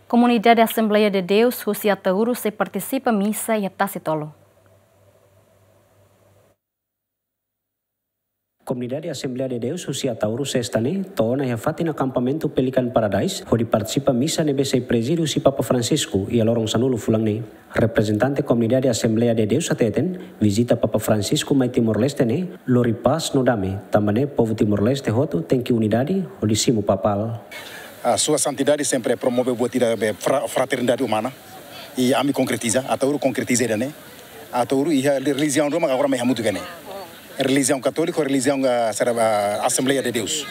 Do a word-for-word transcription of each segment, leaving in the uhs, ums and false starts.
Komunidade Assembleia de Deus husi Ataúro sei partisipa misa iha Tasitolu. Komunidade Assembleia de Deus husi Ataúro sesta ne'e to'o ona iha fatin akampamentu Pelican Paradise hodi partisipa misa ne'ebé sei prezide husi Papa Francisco iha loron sanulu fulan ne'e. Reprezentante Komunidade Assembleia de Deus hateten, vizita Papa Francisco mai Timor-Leste ne'e lori pás no dame, tanba ne'e povu Timor-Leste hotu tenke unidade hodi simu papal. A Sua Santidade sempre promove buat ida be fra-, fraternidade umana. I ami konkretiza, Ataúro konkretiza ida-ne'e. Ataúro iha relijiaun ruma agora mai hamutuk iha ne'e. Relijiaun katólika, relijiaun, ah, sara, ah, Assembleia de Deus.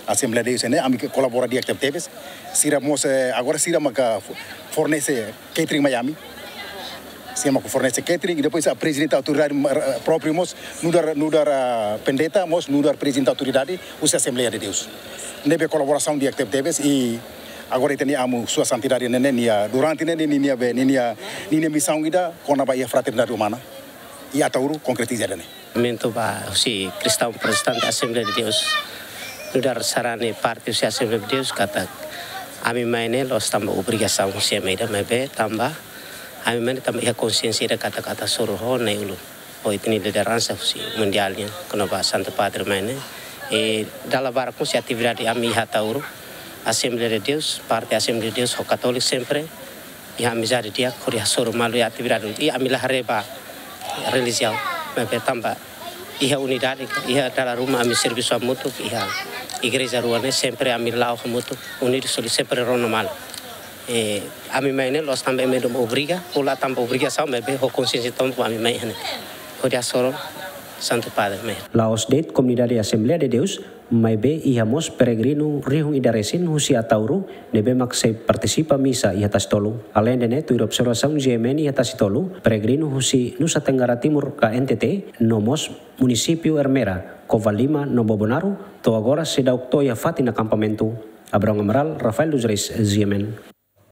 Assembleia de Deus ne'e, ami ke kolabora di'ak tebetebes. Sira mós, eh, agora sira maka fo-, fornese catering mai ami. Sira maka fornese catering, i depois a prezidente autoridade, eh, própriu mós, nu'udar, nu'udar, ah, pendeta, mós nu'udar prezidente autoridade, husi Assembleia de Deus. Ne'ebé kolaborasaun di'ak tebetebes, i agora ita-nia amu Sua Santidade ne'e, nia, durante ne'e, nia, nia be, nia, nia, nia misaun ida, kona-ba iha fraternidade umana. I Ataúro konkretiza ida-ne'e. Mentu ba husi Kristaun Protestante Assembleia de Deus, nu'udar sarani parte husi Assembleia de Deus katak ami mai ne'e la'ós tanba obrigasaun husi ami ida, maibé tanba ami mai ne'e tanba iha konsiénsia ida katak atu hasoru ho na'i-ulun, ho ita-nia lideransa husi mundiál nian, kona-ba Santu Padre mai ne'e. I dala barak husi atividade ami iha Ataúro, Assembleia de Deus, parte Assembleia de Deus, ho Católico sempre iha amizade di'ak, hodi hasoru malu iha atividade. I ami la haree ba relijiaun, maibé tanba iha unidade, iha dala ruma ami servisu hamutuk, iha igreja rua ne'e sempre ami la'o hamutuk, unidu, soli, sempre rona malu. Eh, ami mai ne'e la'ós tanba ema ida obriga, ou la tanba obrigasaun, maibé ho konsiénsia tun ami mai iha ne'e. Hodi hasoru Santu Padre mai. La'ós de'it komunidade Assembleia de Deus, maibé iha mós peregrinu rihun ida resin husi Ataúro ne'ebé mak sei partisipa misa iha Tasitolu. Aleinde ne'e, tuir observasaun G M N iha Tasitolu, peregrinu husi Nusa Tenggara Timur ka N T T, no mós munisípiu Ermera, Covalima no Bobonaro, to'o agora seidauk to'o iha fatin akampamentu. Abrão Amaral, Rafael dos Reis, G M N.